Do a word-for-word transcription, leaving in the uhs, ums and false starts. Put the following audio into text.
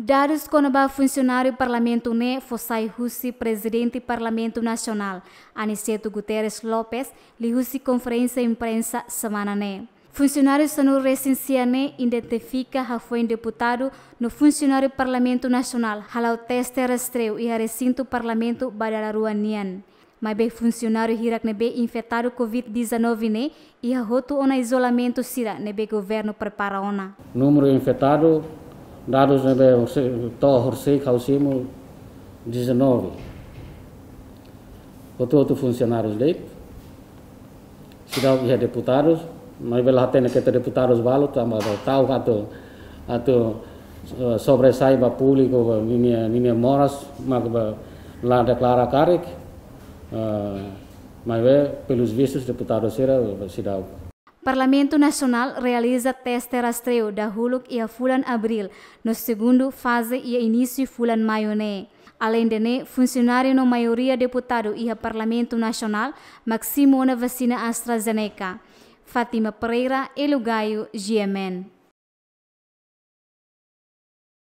Dadus kona-ba funsionáriu Parlamentu ne'e fó sai husi Prezidente Parlamentu Nasionál, Aniceto Guterres Lopes, liuhusi konferénsia imprensa semana ne'e. Funsionáriu sanulu-resin-sia ne'e identifika hafoin deputadu no funsionáriu Parlamentu Nasionál hala'o teste rastreiu iha resintu Parlamentu ba dala rua nian. Maibé funsionáriu hirak ne'ebé infetadu COVID dezanove ne'e iha hotu ona izolamentu sira ne'ebé governu prepara ona. Númeru infetadu, dadus ne'ebé horisehik, to'o horisehik ha'u simu dezanove. Hotu-hotu funsionárius de'it. Seidauk iha deputadus, maibé la hatene katak deputadus balu, tanba ta'uk atu, atu, eh, sobressai ba públiku, ba ninia, ninia moras, mak ba la deklara karik, eh, maibé pelos vistos deputadus sira, seidauk. Parlamentu Nasionál realiza teste rastreiu dahuluk iha fulan Abríl, no segundu faze iha inísiu fulan Maiu ne'e. Aleinde ne'e, funsionáriu no maioria deputadu iha Parlamentu Nasionál mak simu ona vasina AstraZeneca. Fátima Pereira, Hélio Gaio, G M N.